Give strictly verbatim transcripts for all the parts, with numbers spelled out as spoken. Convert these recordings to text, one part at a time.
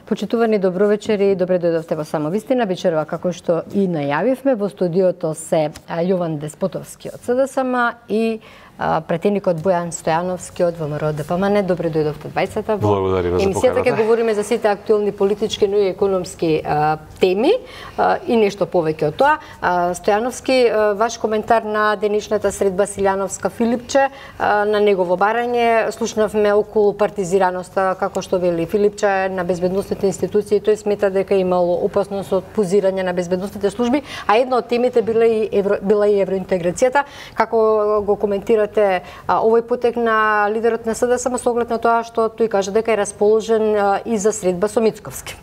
Почитувани добровечери, добре дојдовте во Само вистина. Вечерва, како што и најавивме, во студиото се Јован Деспотовски од СДСМ и претеникот Бојан Стојановски од ВМРО Д П М Н. Добре дојдовте двајцата во емисијата. Ќе говориме за сите актуелни политички, но и економски а, теми а, и нешто повеќе од тоа. А, Стојановски, а, ваш коментар на денешната средба Силјановска-Филипче, а, на негово барање, слушнавме околу партизираноста, како што вели Филипче, на безбедносните институции. Тој смета дека имало опасност од пузирање на безбедносните служби, а една од темите била и евро, била и евроинтеграцијата. Како го коментира овој потек на лидерот на СДСМ со оглед на тоа што тој кажа дека е расположен и за средба со Мицковски?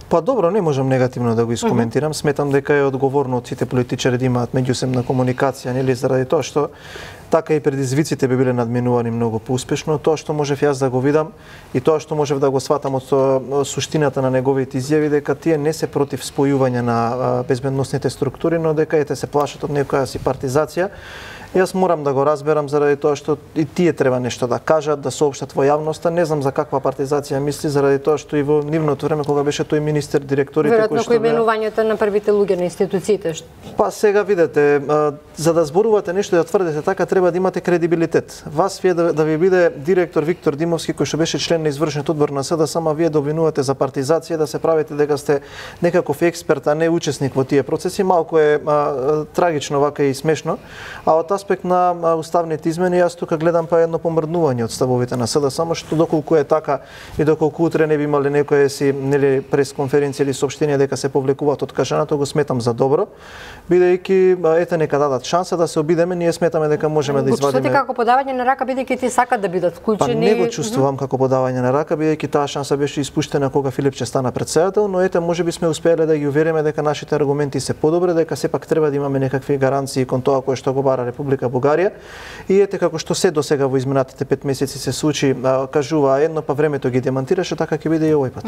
Па добро, не можам негативно да го искоментирам. Сметам дека е одговорно од сите политичари да имаат меѓусебна комуникација, нели, заради тоа што така и предизвиците би биле надминувани многу поуспешно. Тоа што можев јас да го видам и тоа што можев да го сватам од суштината на неговите изјави, дека тие не се против спојување на безбедносните структури, но дека ете се плашат од некоја си партизација. Јас морам да го разберам заради тоа што и тие треба нешто да кажат, да соопштат во јавноста. Не знам за каква партизација мисли, заради тоа што и во нивното време кога беше тој министер, директорите кои што веројатно именувањето на првите луѓе на институциите. Па сега видете, за да зборувате нешто и да тврдите така, треба да имате кредибилитет. Вас вие да, да ви биде директор Виктор Димовски, кој што беше член на извршниот одбор на СДСМ, вие да обвинувате за партизација, да се правите дека сте некаков експерт, а не учесник во тие процеси, малку е а, трагично вака и смешно. А од аспект на уставните измени, јас тука гледам па едно помрднување од ставовите на СДСМ, што доколку е така и доколку утре не би имале некоја си нели пресконференција или соопштение дека се повлекуваат од кажаното, го сметам за добро, бидејќи ете нека дадат шанса да се обидеме, ние сметаме дека можеме да извадиме. Чувствувате како подавање на рака, бидејќи ти сакат да бидат вклучени? Па не го чувствувам како подавање на рака, бидејќи таа шанса беше испуштена кога Филипче стана председател, но ете можеби сме успеале да ги увериме дека нашите аргументи се подобри, дека сепак треба да имаме некакви гаранции кон тоа кое што го бара Република Бугарија. И ете како што се до сега во изминатите пет месеци се случи, кажува едно, па времето ги демантираше, така ќе биде и овој пат.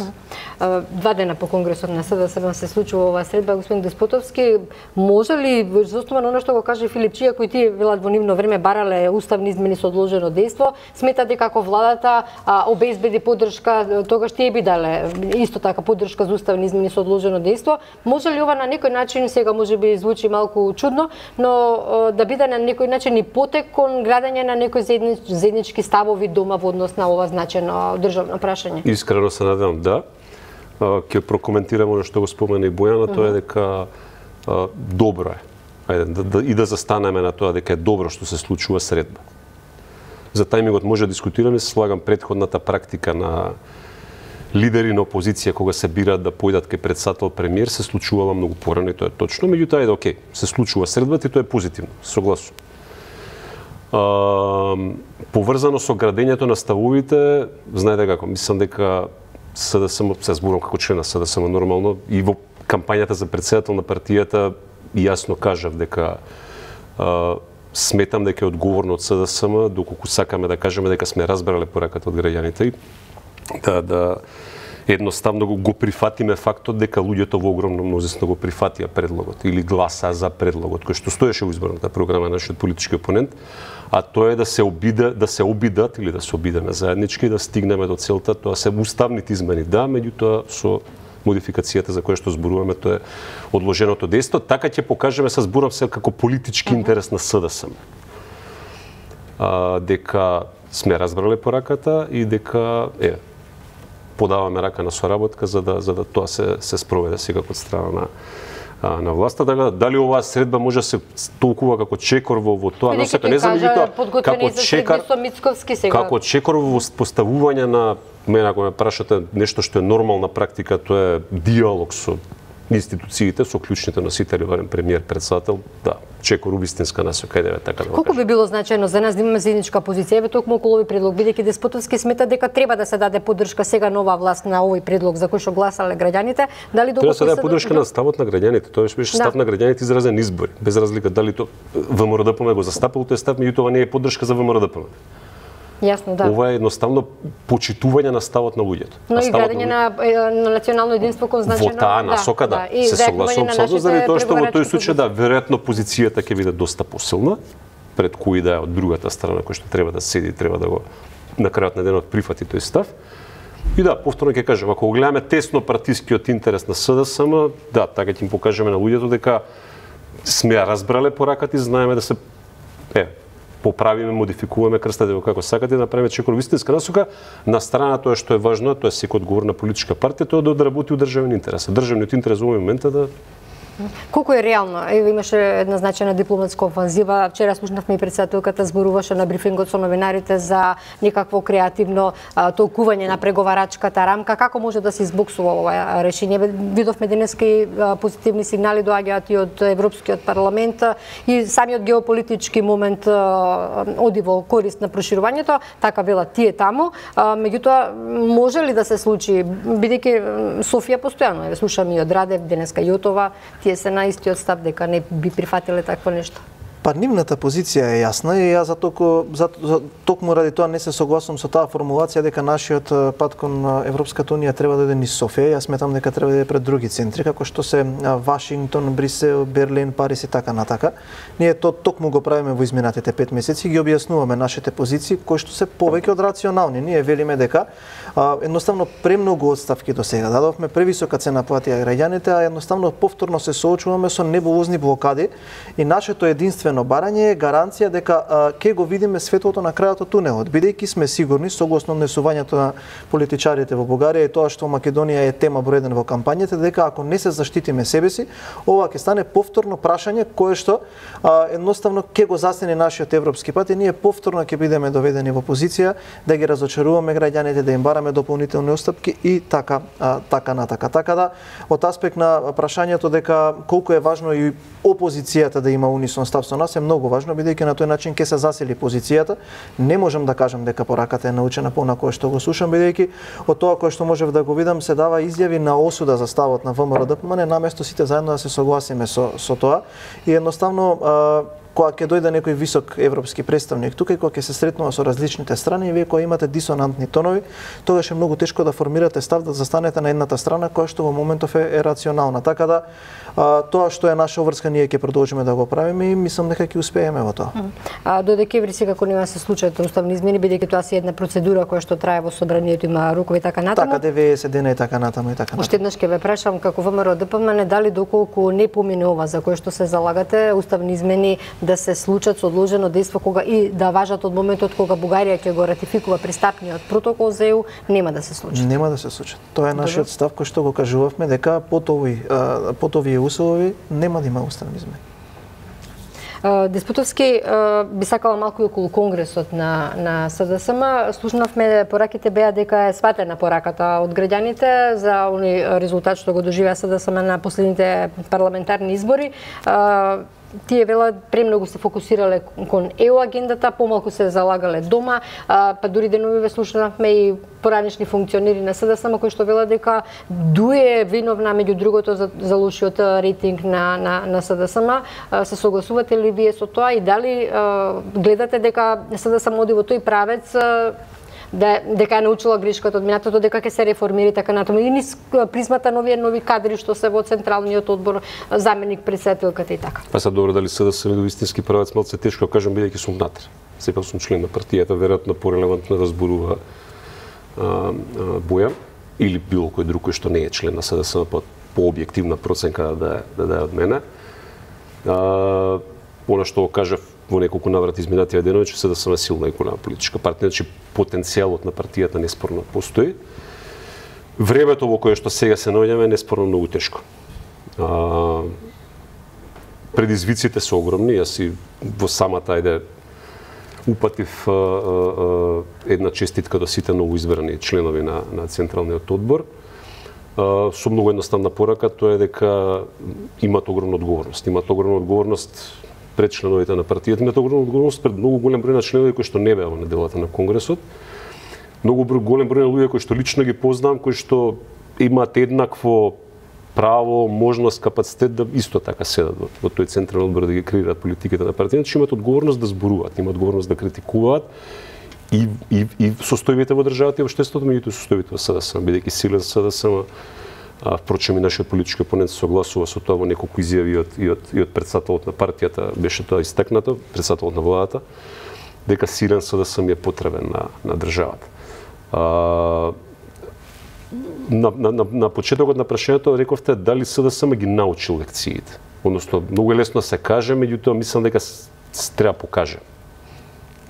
Два дена по конгресот на СДСМ се случува оваа средба, господин Деспотовски. Може ли, застува на оно што го каже Филипчија, кои тие велат во нивно време барале уставни измени со одложено дејство, сметате како владата а, обезбеди поддршка, тогаш тие би дале исто така поддршка за уставни измени со одложено дејство. Може ли ова на некој начин, сега може би звучи малку чудно, но да биде на некој начин и потек кон градење на некои заеднички ставови дома во однос на ова значено државно прашање? Искрено се надевам да. Ќе прокоментирам оно што го спомена и Бојана, тоа е дека а, добро е. Ајде, да, да, и да застанеме на тоа дека е добро што се случува средба. За тајмингот може да дискутираме, се слагам претходната практика на лидери на опозиција кога се бираат да појдат кај председател премиер, се случувала многу порано и тоа е точно, меѓутоа е да окей, се случува средбата и тоа е позитивно, согласувам. Поврзано со градењето на ставовите, знаете како, мислам дека СДСМ, се зборам како член на СДСМ нормално, и во кампањата за председател на партијата јасно кажав дека а, сметам дека е одговорно од СДСМ, доколку сакаме да кажеме дека сме разбрале пораката од граѓаните, да, да едноставно го, го прифатиме фактот дека луѓето во огромно мнозинство го прифатија предлогот или гласа за предлогот кој што стоеше во изборната програма на нашиот политички опонент, а тоа е да се обида, да се обидат или да се обидеме заеднички да стигнеме до целта, тоа се уставните измени, да, меѓутоа со модификацијата за која што зборуваме, тоа е одложеното дејство, така ќе покажеме, се зборам се како политички интерес на СДСМ. А, дека сме разбрале пораката и дека е подаваме рака на соработка за да за да тоа се се спроведе сега од страна на а, на власта. Така дали оваа средба може да се толкува како чекор во во тоа, но сека не знам тоа како чекор со Мицковски сега. Како чекор во поставување на мене, ако ме прашате нешто што е нормална практика, тоа е диалог со институциите, со клучните носители, барем премиер, председател, да, чекор убистинска насока, едеве така да го Колку би било значајно за нас да имаме заедничка позиција, еве токму околу овој предлог, бидејќи Деспотовски смета дека треба да се даде поддршка сега на оваа власт на овој предлог за кој што гласале граѓаните, дали доколку треба да се даде поддршка на ставот на граѓаните, тоа беше став да. на граѓаните изразен избори, без разлика дали тоа ВМРО Д П М го застапил тој став, меѓутоа не е поддршка за ВМРО Д П М. Јасно, да. Ова е едноставно почитување на ставот на луѓето. Но и градење на, на национално единство кон значено. Во таа насока, да, да. се согласувам со тоа, заради тоа што во тој случај, да, веројатно позицијата ќе биде доста посилна, пред кој да е од другата страна кој што треба да седи, треба да го на крајот на денот прифати тој став. И да, повторно ќе кажем, ако го гледаме тесно партискиот интерес на СДСМ, да, така ќе им покажеме на луѓето дека сме ја разбрале пораката и знаеме да се е, поправиме, модификуваме, крстате го како сакате, да направиме чекор вистинска насока. На страна тоа што е важно, тоа е секој одговорна политичка партија, тоа е да работи у државен интерес. Државниот интерес во овој момент е да Колку е реално? Ево имаше една значајна дипломатска офанзива. Вчера слушнавме и председателката зборуваше на брифингот со новинарите за некакво креативно а, толкување на преговарачката рамка. Како може да се избоксува ова решение? Видовме денеска и а, позитивни сигнали доаѓаат и од Европскиот парламент и самиот геополитички момент а, оди во корист на проширувањето, така велат тие таму. А, меѓутоа може ли да се случи, бидејќи Софија постојано е, слушаме и од Радев денеска и од ова, тие се на истиот став дека не би прифатиле такво нешто? Па нивната позиција е јасна и јас за току за, за токму ради тоа не се согласувам со таа формулација дека нашиот пат кон Европската унија треба да иде низ Софија. Јас сметам дека треба да иде пред други центри како што се Вашингтон, Брисел, Берлин, Париз и така натака. Ние то токму го правиме во изминатите пет месеци, ги објаснуваме нашите позиции кои што се повеќе од рационални. Ние велиме дека а, едноставно премногу отставки до сега дадовме, превисока цена платија граѓаните, а едноставно повторно се соочуваме со небулозни блокади и нашето единствено барање е гаранција дека ќе го видиме светлото на крајот од тунелот, бидејќи сме сигурни согласно однесувањето на политичарите во Бугарија и тоа што Македонија е тема број еден во кампањата, дека ако не се заштитиме себе си, ова ќе стане повторно прашање кое што а, едноставно ќе го засени нашиот европски пат и ние повторно ќе бидеме доведени во позиција да ги разочаруваме граѓаните, да им бараме дополнителни отстапки и така а, така натака. Така да од аспект на прашањето дека колку е важно и опозицијата да има унисон став со нас е многу важно, бидејќи на тој начин ќе се засили позицијата. Не можам да кажам дека пораката е научена понакога што го слушам, бидејќи од тоа кое што можев да го видам се дава изјави на осуда за ставот на ВМРО-ДПМН, наместо сите заедно да се согласиме со со тоа и едноставно а, кога ќе дојде некој висок европски представник тука и кога ќе се сретнува со различните страни и вие кога имате дисонантни тонови, тогаш е многу тешко да формирате став да застанете на едната страна која што во моментов е, е рационална. Така да а, тоа што е наша обврска ние ќе продолжиме да го правиме и мислам дека ќе успееме во тоа. А до декември секако нема се случат уставни измени, бидејќи тоа се една процедура која што трае во собранието, има рукови така натаму. Така деветдесет дена и така натаму и така натаму. Уште еднаш ќе ве прашам како ВМРО-ДПМН дали доколку не помине ова за кое што се залагате, уставни измени да се случат со одложено дејство кога и да важат од моментот кога Бугарија ќе го ратификува пристапниот протокол за Е У, нема да се случат. Нема да се случат. Тоа е нашиот став кој што го кажувавме дека под овој под овие услови нема да има уставни измени. Деспотовски би сакала малку и околу конгресот на на СДСМ. Слушнавме пораките беа дека е сватена пораката од граѓаните за оној резултат што го доживеа СДСМ на последните парламентарни избори. Тие велат премногу се фокусирале кон Е У агендата, помалку се залагале дома, па дури деновиве слушнавме и поранешни функционери на СДСМ кои што велат дека Дуе е виновна меѓу другото за, за лошиот рейтинг на на на СДСМ. Се согласувате ли вие со тоа и дали гледате дека СДСМ оди во тој правец да дека е научила грешката од минатото, дека ќе се реформира така натаму и низ призмата нови нови кадри што се во централниот одбор, заменик председателката и така. Па се добро дали СДСМ е вистински правец, малку тешко кажам бидејќи сум внатре. Сепак сум член на партијата, веројатно порелевантно да зборува Боја или било кој друг кој што не е член на СДСМ по, по објективна проценка да да даде од мене. А, она што го кажав во неколку наврати изминативе денови, че СДСМ е силна и голяма политичка партија, значи потенцијалот на партијата неспорно постои. Времето во кое што сега се наоѓаме е неспорно многу тешко. А, предизвиците се огромни, јас и во самата ајде упатив а, а, една честитка до сите новоизбрани членови на на централниот одбор. А, со многу едноставна порака, тоа е дека имат огромна одговорност. Имат огромна одговорност пред членовите на партијата, имат огромна одговорност пред многу голем број на членови кои што не беа во неделата на конгресот. Многу број, голем број на луѓе кои што лично ги познавам, кои што имаат еднакво право, можност, капацитет да исто така седат во, во тој централен одбор да ги креираат политиката на партијата, че имаат одговорност да зборуваат, имаат одговорност да критикуваат и и и состојбите во државата и општеството, меѓутоа состојбите во СДСМ, бидејќи силен СДСМ. А, впрочем, и нашиот политички опонент се согласува со тоа во неколку изјави од, и од, и од председателот на партијата, беше тоа истакнато, председателот на владата, дека силен СДСМ е потребен на, на државата. А, на, на, на, на почетокот на прашањето рековте дали СДСМ ги научил лекциите. Односно, многу е лесно да се каже, меѓутоа мислам дека треба покаже.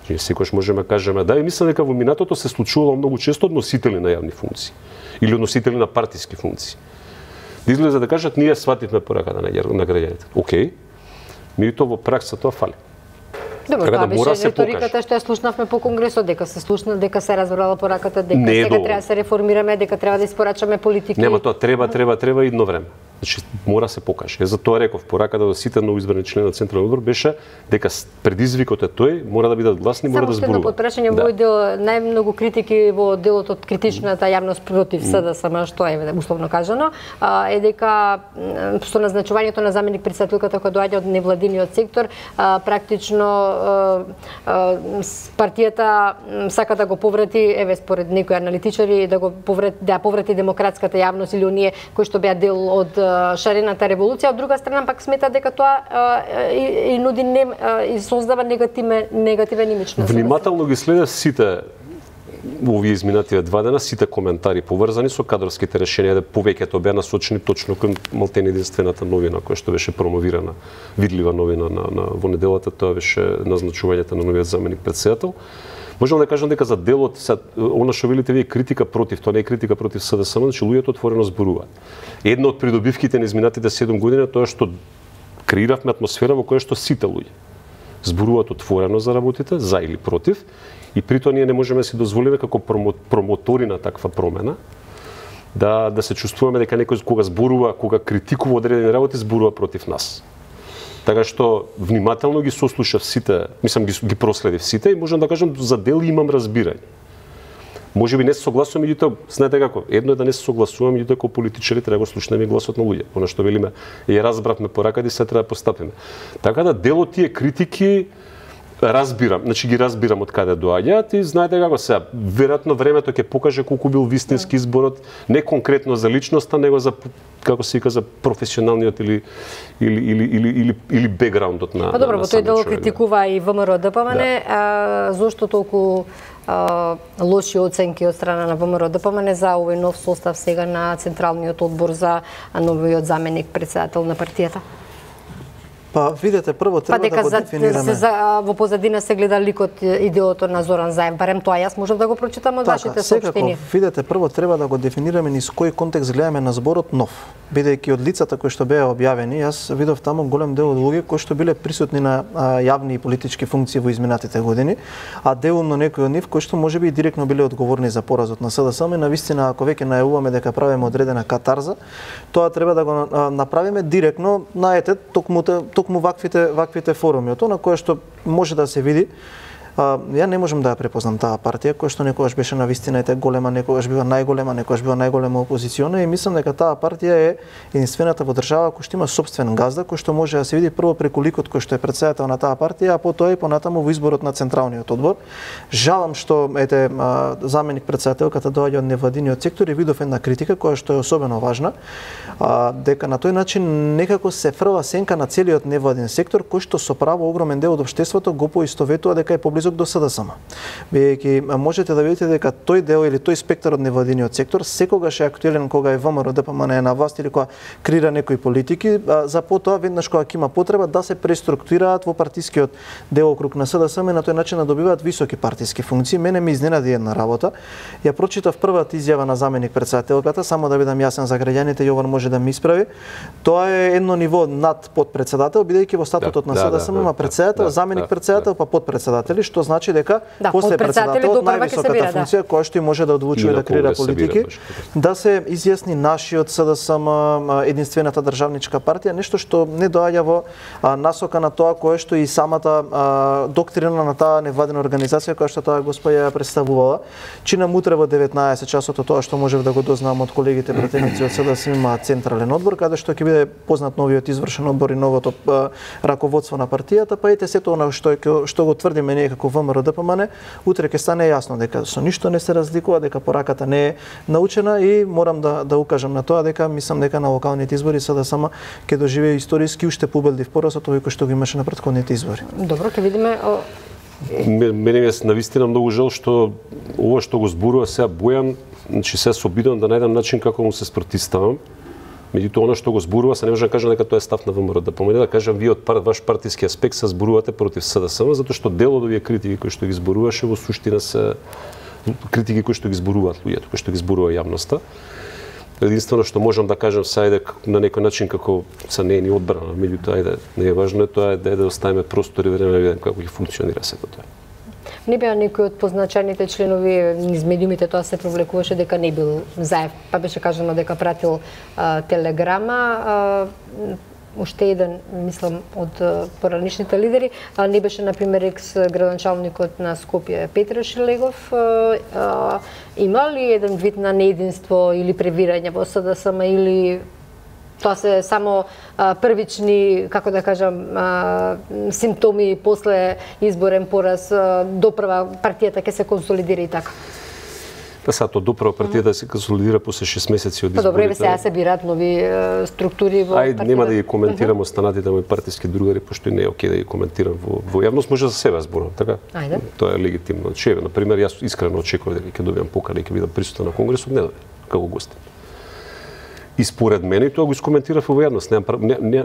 Че секојаш можеме да кажеме, да, и мислам дека во минатото се случувало многу често од носители на јавни функции или од носители на партиски функции. Да излезе да кажат, ние свативме пораката на, на граѓаните. Океј, меѓутоа во пракса тоа фали. Добро, така тоа да мора беше се риториката покаже. што ја слушнавме по конгресот, дека се слушна, дека се разбрала пораката, дека Не е сега доволно. треба да се реформираме, дека треба да испорачаме политики. Нема тоа, треба, треба, треба и едно време. Значи, мора се покаже. Е, за тоа реков, пораката до сите новоизбрани члени на Централниот одбор беше дека предизвикот е тој, мора да бидат гласни, мора Само да што едно зборуваат. подпрашање во Да. овој дел, најмногу критики во делот од критичната јавност против СДСМ, што е условно кажано, а, е дека м, со назначувањето на заменик претседателката која доаѓа од невладиниот сектор, а, практично а, а, с- партијата м, сака да го поврати, еве според некои аналитичари, да го поврати, да ја поврати демократската јавност или оние кои што беа дел од а, шарената револуција, од друга страна пак смета дека тоа а, и, и нуди не, а, и создава негативен негативен имидж на СДСМ. Внимателно ги следев сите овие изминативе два дена, сите коментари поврзани со кадрските решенија, да повеќето беа насочени точно кон малтени единствената новина која што беше промовирана, видлива новина на, на во неделата, тоа беше назначувањето на новиот заменик претседател. Можам да кажам дека за делот, се, она што велите вие критика против, тоа не е критика против СДСМ, значи луѓето отворено зборуваат. Една од придобивките на изминатите седум години е тоа што креиравме атмосфера во која што сите луѓе зборуваат отворено за работите, за или против, и при тоа ние не можеме да си дозволиме како промотори на таква промена да да се чувствуваме дека некој кога зборува, кога критикува одредени работи, зборува против нас. Така што внимателно ги сослушав сите, мислам ги, ги проследив сите и можам да кажам за дел имам разбирање. Може би не се согласувам, меѓутоа, знаете како, едно е да не се согласувам, меѓутоа како политичари треба да го слушнеме и гласот на луѓе. Она што велиме, ја разбравме поракади, се треба да постапиме. Така да делот тие критики разбирам, значи ги разбирам од каде доаѓаат и знаете како сега, веројатно времето ќе покаже колку бил вистински изборот, не конкретно за личноста, него за како се вика за професионалниот или или или или или, или бекграундот на. Па добро, на, во на тој дел човек, критикува и ВМРО ДПМН, да. Зошто толку а, лоши оценки од страна на ВМРО ДПМН за овој нов состав сега на Централниот одбор за новиот заменик претседател на партијата? Па видете, прво Па треба дека да го за, дефинираме. се, за, во позадина се гледа ликот и делото на Зоран Заев, барем тоа јас можам да го прочитам од вашите секако, соопштенија. видете, прво треба да го дефинираме низ кој контекст гледаме на зборот нов. Бидејќи од лицата кои што беа објавени, јас видов таму голем дел од луѓе кои што биле присутни на а, јавни и политички функции во изминатите години, а делумно некои од нив кои што можеби и директно биле одговорни за поразот на СДСМ и навистина ако веќе најавуваме дека правиме одредена катарза, тоа треба да го а, направиме директно на ете токму токму ваквите ваквите форуми, од тоа на кое што може да се види. А, ја не можам да ја препознам таа партија која што некогаш беше навистина ете голема, некогаш бива најголема, некогаш бива најголема опозициона и мислам дека таа партија е единствената во држава која што има сопствен газда кој што може да се види прво преку ликот кој што е претседател на таа партија, а потоа и понатаму во изборот на Централниот одбор. Жалам што ете а, заменик претседателката доаѓа од невладиниот сектор и видов една критика која што е особено важна, а, дека на тој начин некако се фрла сенка на целиот невладин сектор кој што со право огромен дел од општеството го поистоветува дека е поблизок до СДСМ. Бидејќи можете да видите дека тој дел или тој спектар од невладиниот сектор секогаш е актуелен кога е ВМРО ДПМН е на власт или кога креира некои политики, а, за потоа веднаш кога ќе има потреба да се преструктурираат во партискиот делокруг на СДСМ и на тој начин да добиваат високи партиски функции. Мене ми изненади една работа. Ја прочитав првата изјава на заменик претседателката, само да бидам јасен за граѓаните, Јован може да ми исправи. Тоа е едно ниво над подпредседател, бидејќи во статутот да, на СДСМ да, има да, председател, да, заменик да, председател, да. па подпредседатели, што значи дека Да, после председателот највисоката бира, функција да. која што и може да одлучува И да на креира конгрес се бира, политики, точно да се изјасни нашиот СДСМ, единствената државничка партија, нешто што не доаѓа во а, насока на тоа кое што и самата а, доктрина на таа невладина организација која што таа господја ја представувала. Чина утре во деветнаесет часот тоа што можев да го дознам од колегите пратеници од СДСМ има централен одбор каде што ќе биде познат новиот извршен одбор и новото а, раководство на партијата, па ете сето она што што го тврдиме ние како ВМРО ДПМН, утре ќе стане јасно дека со ништо не се разликува, дека пораката не е научена и морам да да укажам на тоа дека мислам дека на локалните избори СДСМ ќе доживее историски уште победлив пораз од овој кој што го имаше на претходните избори. Добро, ќе видиме. Мене ми е навистина многу жал што ова што го зборува сега Бојан Значи се се обидувам да најдам начин како му се спротивставам. Меѓутоа, оно што го зборува, се не може да кажам дека тоа е став на ВМРО д П М Н, да кажам вие од пар, ваш партиски аспект се зборувате против С Д С М, затоа што дел од овие критики кои што ги зборуваше во суштина се критики кои што ги зборуваат луѓето, кои што ги зборува јавноста. Единствено што можам да кажам се ајде на некој начин како се не е ни одбрана, меѓутоа ајде не е важно, тоа е да да оставиме простор и време да видиме како ќе функционира сето тоа. Не беа некои од позначените членови низ медиумите, тоа се провлекуваше дека не бил заев, па беше кажано дека пратил а, телеграма. А, уште еден, мислам, од а, поранишните лидери, а, не беше, например, екс градоначалникот на Скопје Петар Шилегов. А, а, има ли еден вид на неединство или превирање во С Д С М или тоа се само а, првични, како да кажам, а, симптоми после изборен пораз, а, допрва партијата ќе се консолидира и така? Па сега тоа допрва партијата се консолидира после шест месеци од изборите. Па добре, еве сега се бираат нови е, структури во партијата. Ајде, нема да ги коментирам останатите мои партиски другари, пошто и не е окей да ги коментирам во, во јавност, може за себе зборам, така? Ајде. Тоа е легитимно. Че, на пример, јас искрено очекував дека ќе добиам покана и ќе бидам присутен на конгресот, не доби, како гостин. И според мене, тоа го искоментирав во јавност, немам, не, не,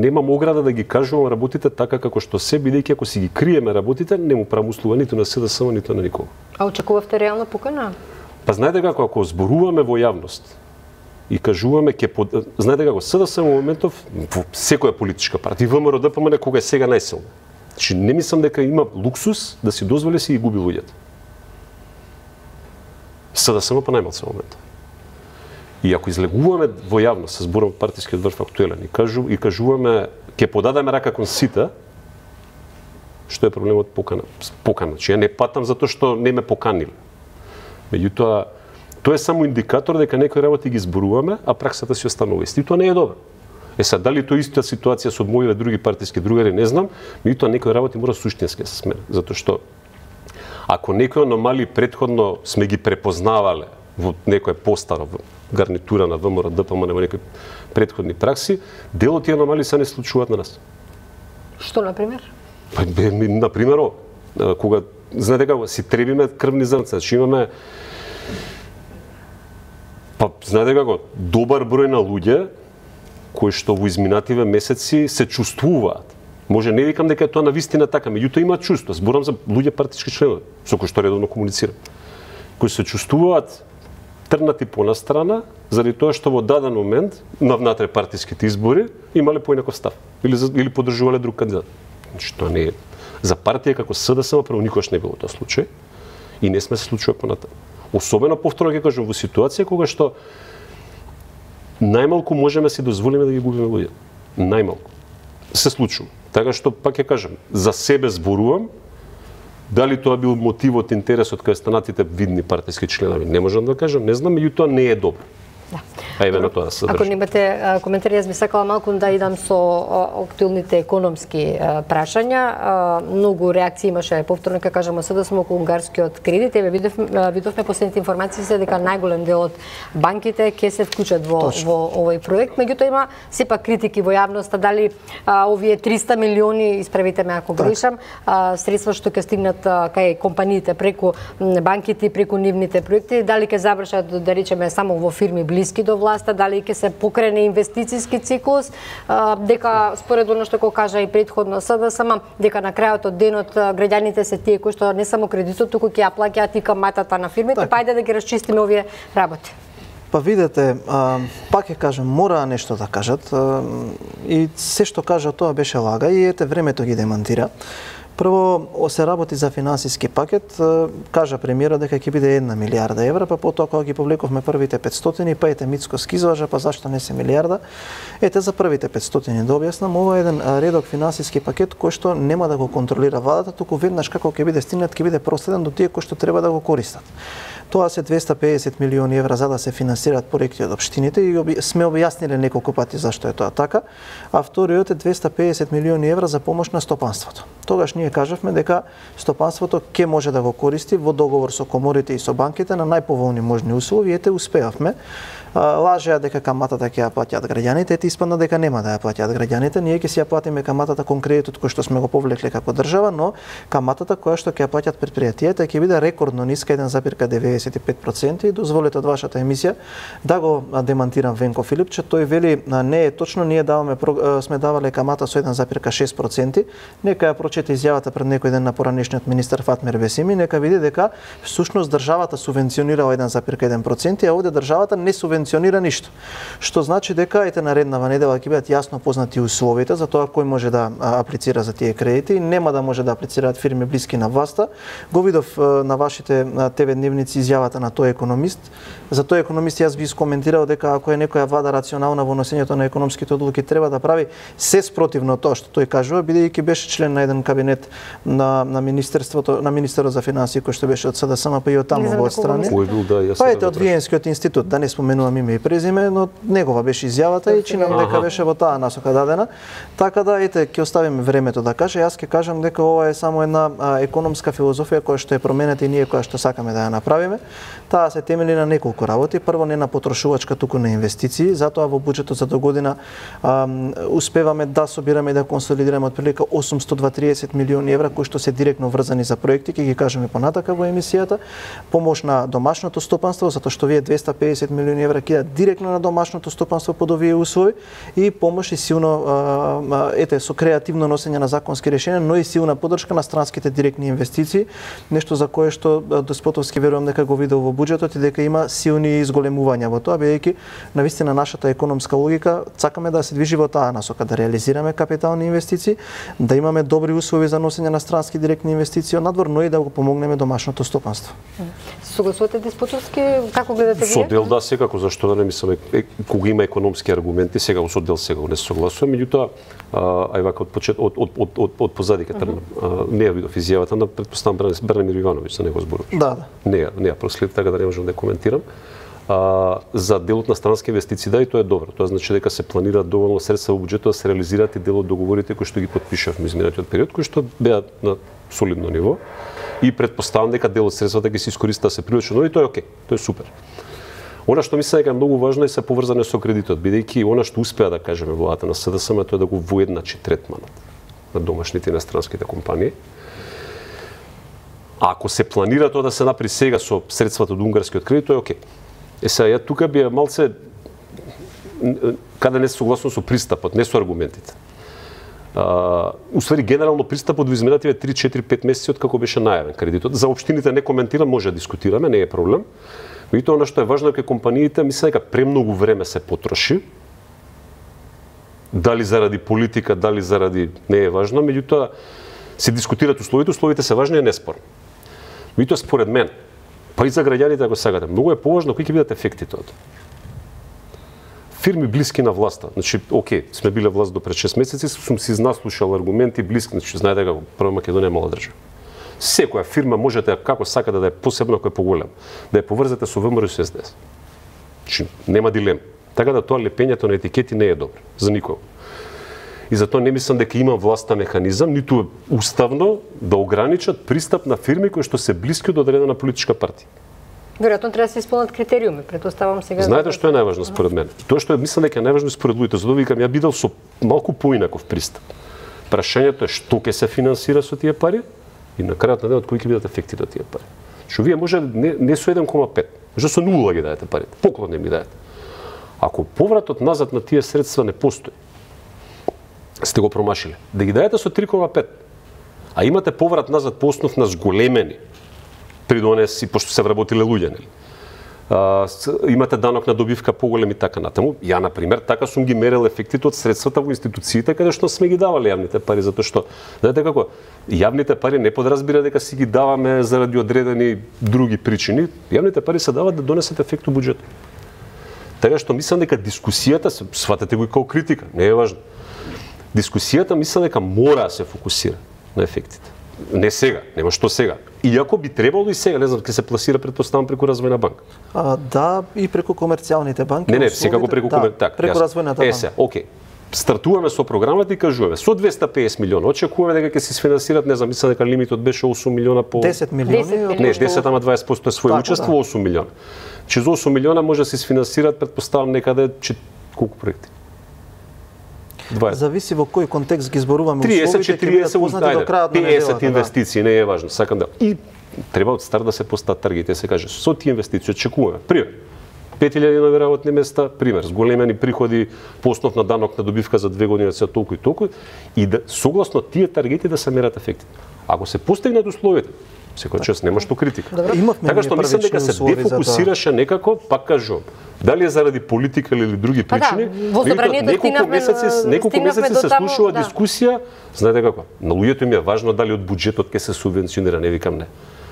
немам ограда да ги кажувам работите така како што се, бидејќи ако си ги криеме работите, не му правам услуга ниту на С Д С М, ниту на никого. А очекувавте реална покана? Па знаете како, ако зборуваме во јавност и кажуваме ќе под... знаете како, С Д С М во моментов во секоја политичка партија, ВМРО Д П М Н кога е сега најсилно. Значи не мислам дека има луксус да си дозволи си ги губи луѓето. С Д С М по најмалце моментов. И ако излегуваме во јавност, се зборам партискиот врв актуелен и, кажу, и кажуваме ќе подадеме рака кон сите, што е проблемот покана? Покана. Че ја не патам затоа што не ме поканиле. Меѓутоа, тоа е само индикатор дека некои работи ги зборуваме, а праксата си останува иста. И тоа не е добро. Е сега, дали тоа иста ситуација со моите други партиски другари, не знам, меѓутоа некои работи мора суштински да се сменат. Затоа што ако некои аномалии претходно сме ги препознавале во некоја постара гарнитура на ВМРО Д П М Н во некои претходни пракси, дел од тие аномалии се не случуваат на нас. Што, например? Па, например, кога, знаете како, си требиме крвни зрнца, значи имаме, па, знаете како, добар број на луѓе кои што во изминативе месеци се чувствуваат. Може не викам дека е тоа навистина така, меѓутоа имаат чувство. Зборам за луѓе партички членови, со кои што редовно комуницирам, кои се чувствуваат трнати понастрана, заради тоа што во даден момент на внатре партиските избори имале поинаков став или или поддржувале друг кандидат. Значи тоа не е за партија како С Д С М прво никогаш не било тоа случај и не сме се случува понатаму. Особено повторно ќе кажам во ситуација кога што најмалку можеме си дозволиме да ги губиме луѓе. Најмалку се случува. Така што пак ќе кажам, за себе зборувам. Дали тоа бил мотивот, интересот кај останатите видни партиски членови, не можам да кажам, не знам, меѓутоа не е добро. Да. А еве на тоа да се држи. Ако немате коментари, јас би сакала малку да идам со актуелните економски прашања. Многу реакции имаше, повторно ќе кажам, С Д С М околу унгарскиот кредит. Еве видовме, видовме последните информации се дека најголем дел од банките ќе се вклучат во, во овој проект. Меѓутоа има сепак критики во јавноста дали а, овие триста милиони, исправите ме ако грешам, средства што ќе стигнат а, кај компаниите преку банките, преку нивните проекти, дали ќе завршат, да речеме, само во фирми блиски до власта, дали ќе се покрене инвестициски циклус, дека според оно што го кажа и претходно С Д С М, дека на крајот од денот граѓаните се тие кои што не само кредитот, туку ќе ја плаќаат и каматата на фирмите, па ајде да ги расчистиме овие работи. Па видете, а, пак ќе кажам, мора нешто да кажат а, и се што кажа тоа беше лага и ете времето ги демантира. Прво, се работи за финансиски пакет, кажа премиерот дека ќе биде една милиарда евра, па потоа кога ги повлековме првите петстотини, па ете Мицко скизлажа, па зашто не се милиарда. Ете за првите петстотини да објаснам, ова е еден редок финансиски пакет кој што нема да го контролира владата, туку веднаш како ќе биде стигнат, ќе биде проследен до тие кои што треба да го користат. Тоа се двесте и педесет милиони евра за да се финансираат проекти од општините и оби, сме објасниле неколку пати зашто е тоа така, а вториот е двесте и педесет милиони евра за помош на стопанството. Тогаш ние кажавме дека стопанството ќе може да го користи во договор со коморите и со банките на најповолни можни услови, ете успеавме. лажеа дека каматата ќе ја платат граѓаните, ете испадна дека нема да ја платат граѓаните. Ние ќе си ја платиме каматата кон кредитот кој што сме го повлекле како држава, но каматата која што ќе ја платат предпријатијата ќе биде рекордно ниска, еден зарез деветдесет и пет проценти. И дозволете од вашата емисија да го демантирам Венко Филипче. Тој вели не е точно, ние даваме сме давале камата со еден зарез шест проценти. Нека ја прочете изјавата пред некој ден на поранешниот министер Фатмир Бесими, нека види дека всушност државата субвенционирала еден зарез еден проценти, а овде државата не субвенционира ништо. Што значи дека ете нареднава недела ќе бидат јасно познати условите за тоа кој може да аплицира за тие кредити. Нема да може да аплицираат фирми блиски на власта. Го видов на вашите ТВ дневници изјавата на тој економист. За тој економист јас би искоментирал дека ако е некоја влада рационална во носењето на економските одлуки, треба да прави се спротивно тоа што тој кажува, бидејќи беше член на еден кабинет на на министерството, на министерот за финансии кој што беше од СДСМ, па и од таму во страни. Па ете од Виенскиот институт, да не споменувам име и презиме, но негова беше изјавата и чинам дека беше во таа насока дадена. Така да ете ќе оставиме времето да каже. Јас ќе кажам дека ова е само една а, економска филозофија која што е променета и ние која што сакаме да ја направиме. Таа се темели на неколку работи. Прво, не на потрошувачка, туку на инвестиции. Затоа во буџетот за до година а, успеваме да собираме и да консолидираме отприлика осумстотини и триесет милиони евра кои што се директно врзани за проекти, ќе ги кажеме понатака во емисијата. Помош на домашното стопанство, затоа што вие двесте и педесет милиони евра кидат директно на домашното стопанство под овие услови, и помош и силно а, ете со креативно носење на законски решенија, но и силна поддршка на странските директни инвестиции, нешто за кое што Деспотовски верувам дека го видел во буџетот и дека има силни изголемувања во тоа, бидејќи навистина нашата економска логика сакаме да се движи во таа насока, да реализираме капитални инвестиции, да имаме добри услови за носење на странски директни инвестиции надвор, но и да го помогнеме домашното стопанство. Согласувате Деспотовски, како гледате вие? Со дел да, секако, зашто да не мислам, е, кога има економски аргументи, сега со дел сега не согласувам, меѓутоа ај вака од почет од од од од, од позади ке тргнам. Uh -huh. Не ја видов изјавата на претпоставам Бранимир Ивановиќ, за него зборуваш. Да, да. Не ја, не ја проследив, така да не можам да коментирам. А, за делот на странски инвестиции, да, и тоа е добро. Тоа значи дека се планираат доволно средства во буџетот да се реализираат и дел од договорите кои што ги потпишавме изминатиот период, кои што беа на солидно ниво. И претпоставам дека дел од средствата ќе се искористат да се привлечат нови, тоа е окей, тоа е супер. Она што мислам дека е многу важно е се поврзано со кредитот, бидејќи она што успеа да кажеме владата на СДСМ тоа е да го воедначи третманот на домашните и на странските компании. А ако се планира тоа да се направи сега со средствата од унгарскиот кредит, тоа е окей. Е сега ја тука би малце каде не согласно со пристапот, не со аргументите. Uh, уствари генерално пристапот во изминативе три четири пет месеци од како беше најавен кредитот. За општините не коментирам, може да дискутираме, не е проблем. Меѓутоа она што е важно е дека компаниите мислам дека премногу време се потроши. Дали заради политика, дали заради не е важно, меѓутоа се дискутираат условите, условите се важни и неспорни. Меѓутоа според мен, па и за граѓаните ако сакате, многу е поважно кои ќе бидат ефектите од тоа. Фирми блиски на власта, значи, окей, сме биле власт до пред шест месеци, сум си наслушал аргументи блиски, значи, знаете како, прва Македонија е мала држава. Секоја фирма можете, како сакате да е посебно, ако е поголем, да ја поврзете со ВМРО и со СДС. Значи, нема дилема. Така да тоа лепењето на етикети не е добро, за никого. И затоа не мислам дека има власта механизам, ниту уставно да ограничат пристап на фирми кои што се блиски од одредена политичка партија. Веројатно треба да се исполнат критериуми, претпоставам сега. Знаете што е најважно според мене? Тоа што е мислам дека е најважно според луѓето, затоа викам ја бидел со малку поинаков пристап. Прашањето е што ќе се финансира со тие пари и на крајот на денот кои ќе бидат ефектите од тие пари. Што вие може не, не со еден кома пет, може со нула ги даете парите, поклон не ми даете. Ако повратот назад на тие средства не постои, сте го промашиле. Да ги даете со три кома пет, а имате поврат назад по основ на зголемени придонеси, пошто се вработиле луѓе, нели? А, имате данок на добивка поголем и така натаму. Ја, например, така сум ги мерил ефектите од средствата во институциите каде што сме ги давале јавните пари, затоа што, знаете како, јавните пари не подразбира дека си ги даваме заради одредени други причини. Јавните пари се дават да донесат ефект во буџетот. Така што мислам дека дискусијата, сватете го и како критика, не е важно. Дискусијата мислам дека мора да се фокусира на ефектите. Не сега, нема што сега. Иако би требало и сега, не знам, ќе се пласира претпоставам преку Развојна банка. А, да, и преку комерцијалните банки. Не, не, секако преку да, комер... так, преку Развојната банка. Е, се, окей. стартуваме со програмата и кажуваме со двесте и песет милиона очекуваме дека ќе се сфинансираат, не знам, мислам дека лимитот беше осум милиона по десет милиони. Не, десет ама дваесет проценти е свој Така, учество, да. осум милиона. Че за осум милиона може да се сфинансираат, претпоставам некаде че колку проекти? дваесет. Зависи во кој контекст ги зборуваме триесет, условите, ќе бидат четириесет, познати до крајот на песет неделата. инвестиции, не е важно, сакам да. И треба од старт да се постават таргети, се каже, со тие инвестиции очекуваме. Пример, пет илјади нови работни места, пример, зголемени приходи по основ на данок на добивка за две години се толку и толку, и да согласно тие таргети да се мерат ефекти. Ако се постигнат условите, секој час нема што критика. Имавме Така што мислам дека се дефокусираше некако, пак кажувам, дали е заради политика или други Па да, причини, во собранието неколку стигнавме месеци, на- неколку стигнавме месеци до се таму, слушува да. дискусија, знаете како, на луѓето им е важно дали од буџетот ќе се субвенционира, не викам не.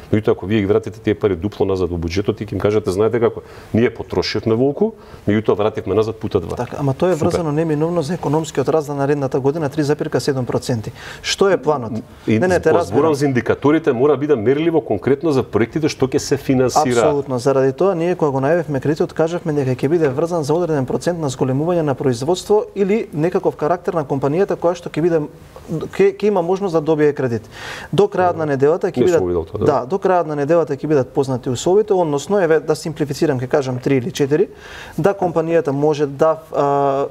Меѓутоа, ако вие ги вратите тие пари дупло назад во буџетот и ќе им кажете, знаете како, ние потрошивме волку, меѓутоа вративме назад пута два. Така, ама тоа е Супер. врзано неминовно за економскиот раст за наредната година три зарез седум проценти. Што е планот? И не, не, те зборам разбирам. за индикаторите, мора биде мерливо конкретно за проектите што ќе се финансираат. Апсолутно. Заради тоа ние кога го најавивме кредитот кажавме дека ќе биде врзан за одреден процент на зголемување на производство или некаков карактер на компанијата која што ќе биде ќе ќе има можност да добие кредит. До крајот на неделата ќе Не бидат сум видел тоа, да. да, до крајот на неделата ќе бидат познати условите, односно еве да симплифицирам ќе кажам три или четири, да компанијата може да а,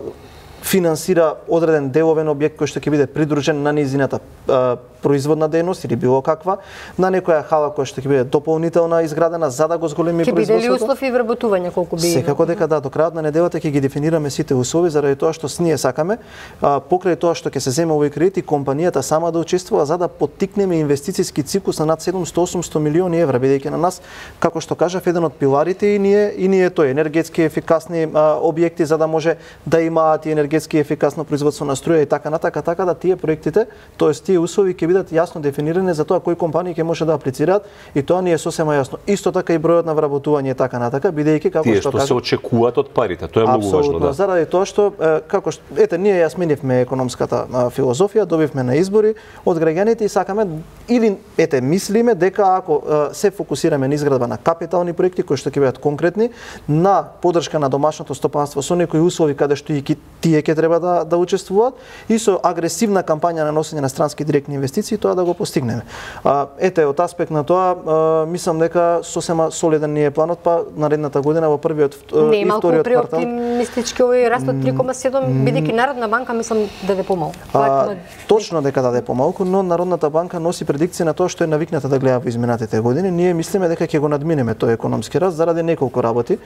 финансира одреден деловен објект кој што ќе биде придружен на нејзината а, производна дејност или било каква, на некоја хала која што ќе биде дополнителна изградена за да го зголеми Ќе биде ли производството. услов и вработување колку би? Секако дека да, до крајот на неделата ќе ги дефинираме сите услови заради тоа што ние сакаме, а, покрај тоа што ќе се земе овој кредит и компанијата сама да учествува за да поттикнеме инвестициски циклус на над седумсто до осумсто милиони евра, бидејќи на нас, како што кажав, еден од пиларите и ние и ние тој енергетски ефикасни а, објекти за да може да имаат и енергетски ефикасно производство на струја и така натака, така да тие проектите, тоест тие услови ќе бидат јасно дефинирани за тоа кои компании ќе може да аплицираат и тоа ни е сосема јасно. Исто така и бројот на вработување и така натака, бидејќи како Тие што што кажа, се очекуваат од парите, тоа е многу важно, апсолутно, да. заради тоа што е, како што ете ние ја сменивме економската а, филозофија, добивме на избори од граѓаните и сакаме или ете мислиме дека ако а, се фокусираме на изградба на капитални проекти кои што ќе бидат конкретни, на поддршка на домашното стопанство со некои услови каде што и ки- тие ќе треба да да учествуваат и со агресивна кампања на носење на странски директни инвестиции тоа да го постигнеме. А, ете од аспект на тоа а, мислам дека сосема солиден ни е планот, па наредната година во првиот Не и е малку вториот квартал. преоптимистички овој раст од три кома седум, бидејќи Народна банка мислам даде помалку. А, точно дека даде помалку, но Народната банка носи предикција на тоа што е навикната да гледа во изминатите години. Ние мислиме дека ќе го надминеме тој економски раст заради неколку работи.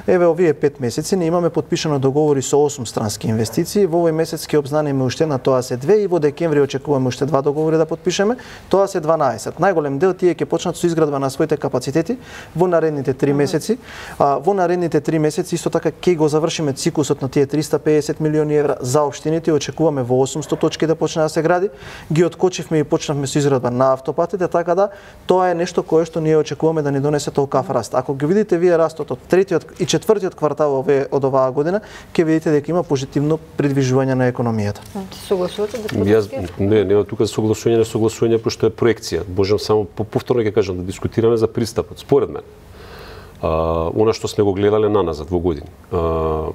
Еве овие пет месеци ние имаме потпишано договори со осум странски инвестиции. Во овој месец ќе обзнанеме уште на тоа се две и во декември очекуваме уште два договори да потпишеме. Тоа се дванаесет. Најголем дел тие ќе почнат со изградба на своите капацитети во наредните три месеци. А, во наредните три месеци исто така ќе го завршиме циклусот на тие триста и песет милиони евра за општините. Очекуваме во осумсто точки да почне да се гради. Ги откочивме и почнавме со изградба на автопатите, така да тоа е нешто кое што ние очекуваме да ни донесе толкав раст. Ако ги видите вие растот од третиот и четвртиот квартал ове од оваа година, ќе видите дека има позитивно придвижување на економијата. Согласувате Јас депутатски? не, нема тука согласување, не согласување, пошто е проекција. Можам само по- повторно ќе кажам да дискутираме за пристапот. Според мен, а, она што сме го гледале наназад во години, а,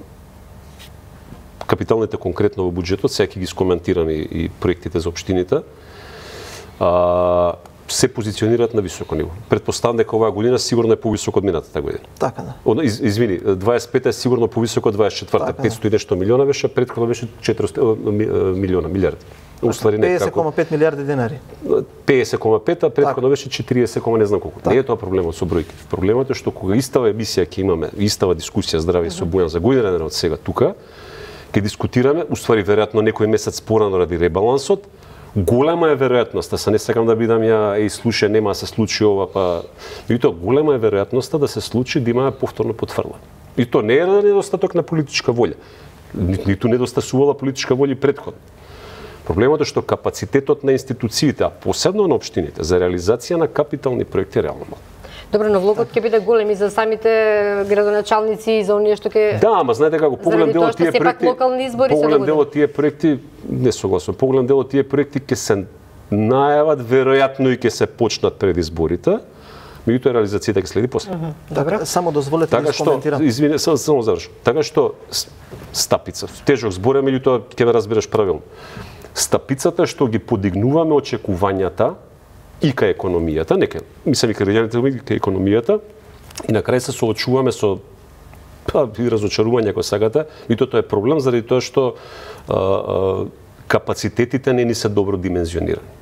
капиталните конкретно во буџетот, сега ќе ги скоментирам и, и проектите за општините, а, се позиционираат на високо ниво. Предпоставам дека оваа година сигурно е повисоко од минатата година. Така да. Одно, из, извини, дваесет и пета е сигурно повисоко од дваесет и четврта. Така, да. петстотини и нешто милиона беше, претходно беше четиристотини ми- милиона, милиарди. Уствари не песет како кома пет милиарди денари. песет кома пет, а претходно Така. беше четириесет, не знам колку. Не е тоа проблемот со бројките. Проблемот е што кога истава емисија ќе имаме, истава дискусија здрави со Бојан за година дена од сега тука, ќе дискутираме, уствари веројатно некој месец порано ради ребалансот, голема е веројатноста, се не сакам да бидам ја и слуша нема да се случи ова, па меѓутоа голема е веројатноста да се случи да имаме повторно потврдување. И тоа не е недостаток на политичка волја. Ни- Ниту недостасувала политичка волја и претходно. Проблемот е што капацитетот на институциите, а посебно на општините, за реализација на капитални проекти е реално мал. Добро, но влогот ќе биде голем и за самите градоначалници и за оние што ќе Да, ама знаете како, поголем Заради дел тоа од што тие сепак проекти, локални избори се поголем догоди. дел од тие проекти, не согласувам, поголем дел од тие проекти ќе се најават, веројатно и ќе се почнат пред изборите, Меѓутоа реализацијата ќе следи после. Така, само дозволете да искоментирам. Извини, само само завршам. Така што стапица, тежок збор е, меѓутоа ќе ме разбереш правилно. Стапицата што ги подигнуваме очекувањата и кај економијата, нека, мислам и кај граѓаните, и кај економијата, и на крај се соочуваме со па и разочарување ако сакате, и тоа е проблем заради тоа што а, а, капацитетите не ни се добро димензионирани.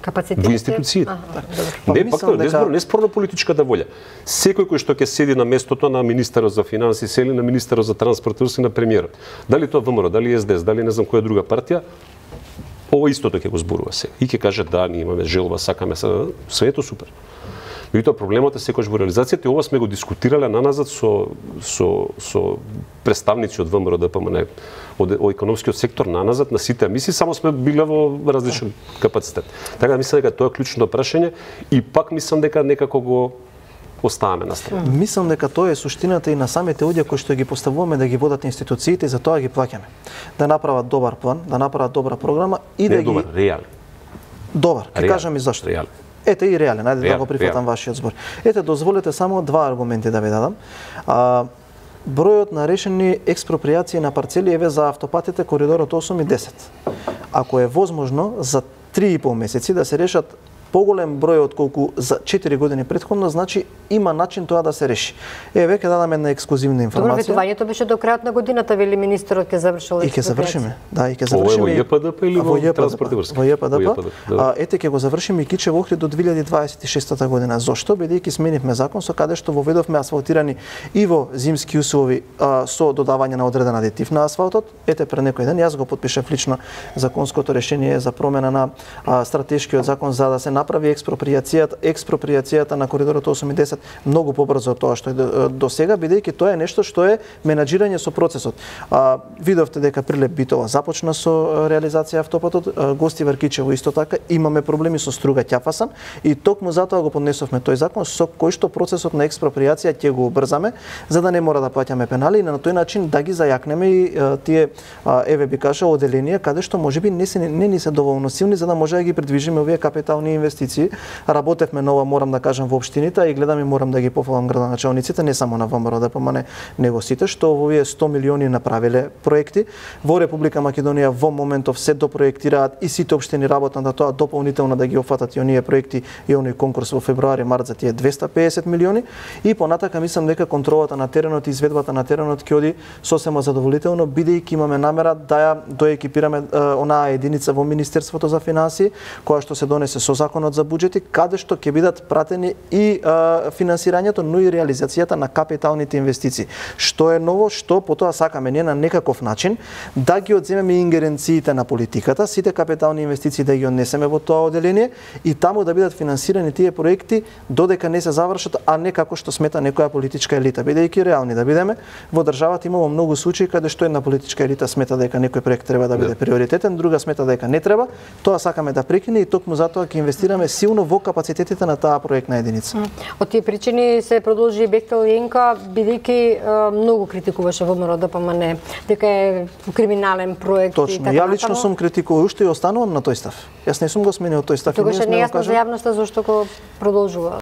Капацитетите во институциите. Аха, не пак тоа, не дека... не спорно политичката волја. Секој кој што ќе седи на местото на министерот за финансии, или на министерот за транспорт, или на премиерот, дали тоа ВМРО, дали Ес Де Ес, дали не знам која друга партија, ова истото ќе го зборува сега. И ќе каже да, ние имаме желба, сакаме се, свето супер. Меѓутоа проблемот е секогаш во реализацијата, и ова сме го дискутирале наназад со со со представници од ВМРО Д П М Н, од, од економскиот сектор наназад на сите емисии, само сме биле во различен капацитет. Така да мислам дека тоа е клучно прашање и пак мислам дека некако го оставаме на страна. Мислам дека тоа е суштината и на самите луѓе кои што ги поставуваме да ги водат институциите, и за тоа ги плаќаме. Да направат добар план, да направат добра програма и Не да добар, ги реален. Добар, ќе кажам и зашто. Реален. Ете и реален, ајде да го прифатам реален. вашиот збор. Ете, дозволете само два аргументи да ви дадам. А, бројот на решени експроприации на парцели еве за автопатите коридорот осум и десет. Ако е возможно за три и пол месеци да се решат поголем број од колку за четири години претходно, значи има начин тоа да се реши. Еве ќе дадам една ексклузивна Добро, информација. ветувањето беше до крајот на годината, вели министерот ќе завршил И ќе завршиме. Да, и ќе Ова е завршиме. во Ј П Д П или во Ј П Д П? транспорт и врска? Во Ј П Д П. Во Ј П Д П, да. А, ете ќе го завршиме и Кичев Охрид до две илјади дваесет и шеста година. Зошто? Бидејќи сменивме закон со каде што воведовме асфалтирани и во зимски услови а, со додавање на одреден адитив на асфалтот. Ете пред некој ден јас го потпишав лично законското решение за промена на а, стратешкиот закон за да се направи експроприацијата експроприацијата на коридорот осум и десет многу побрзо од тоа што е до, до сега, бидејќи тоа е нешто што е менаџирање со процесот. А, видовте дека Прилеп Битола започна со реализација автопатот, а, Гостивар Кичево исто така, имаме проблеми со Струга Ќафасан и токму затоа го поднесовме тој закон со кој што процесот на експроприација ќе го убрзаме за да не мора да плаќаме пенали и на тој начин да ги зајакнеме и а, тие а, еве би кажал оделенија каде што можеби не се не ни се доволно силни за да може да ги придвижиме овие капитални инвестиции. Работевме нова, морам да кажам, во општините, и гледам и морам да ги пофалам градоначалниците, не само на ВМРО Д П М Н, него сите, што во овие сто милиони направиле проекти. Во Република Македонија во моментов се допроектираат и сите општини работат на тоа дополнително да ги опфатат и оние проекти и оној конкурс во февруари, март за тие двесте и педесет милиони. И понатака мислам дека контролата на теренот и изведбата на теренот ќе оди сосема задоволително, бидејќи имаме намера да ја доекипираме онаа единица во Министерството за финансии, која што се донесе со законот за буџети, каде што ќе бидат пратени и а, финансирањето, но и реализацијата на капиталните инвестиции. Што е ново, што потоа сакаме ние на некаков начин да ги одземеме ингеренциите на политиката, сите капитални инвестиции да ги однесеме во тоа оделение и таму да бидат финансирани тие проекти додека не се завршат, а не како што смета некоја политичка елита. Бидејќи реални да бидеме, во државата имало многу случаи каде што една политичка елита смета дека некој проект треба да биде приоритетен, друга смета дека не треба. Тоа сакаме да прекине и токму затоа ќе инвестираме силно во капацитетите на таа проектна единица. Од тие причини се продолжи Бехтел Јенка, бидејќи многу критикуваше ВМРО Д П М Н дека е криминален проект. Точно, и така ја лично натаму. сум критикувал, уште и останувам на тој став. Јас не сум го сменил тој став. Тогаш е нејасно за јавноста зашто го продолжува.